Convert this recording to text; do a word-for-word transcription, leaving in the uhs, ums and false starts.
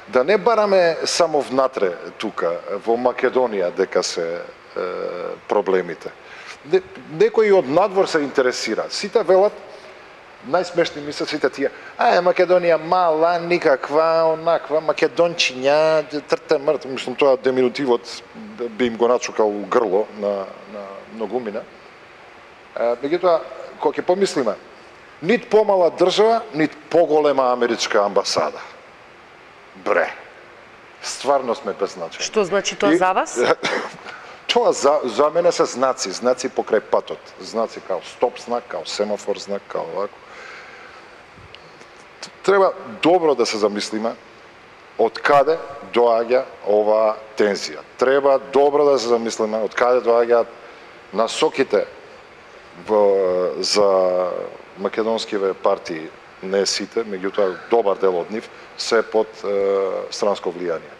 да не бараме само внатре тука, во Македонија, дека се е, проблемите. Не, некои од надвор се интересира. Сите велат, најсмешни мислат сите тие, а, Македонија мала, никаква, онаква, македончиња, трте мрт, мислам, тоа деминутивот би им го начукал грло на, на многумина. Меѓутоа, кога ќе помислиме, нит помала држава, нит поголема америчка амбасада. Бре, стварно сме беззначени. Што значи тоа и, за вас? Тоа за, за мене се знаци, знаци покрај патот. Знаци као стоп знак, као семафор знак, као овако. Треба добро да се замислиме од каде доаѓа оваа тензија. Треба добро да се замислиме од каде доаѓаат насоките во, за македонскиве партии, не сите, меѓутоа добар дел од нив, се под е, странско влијание.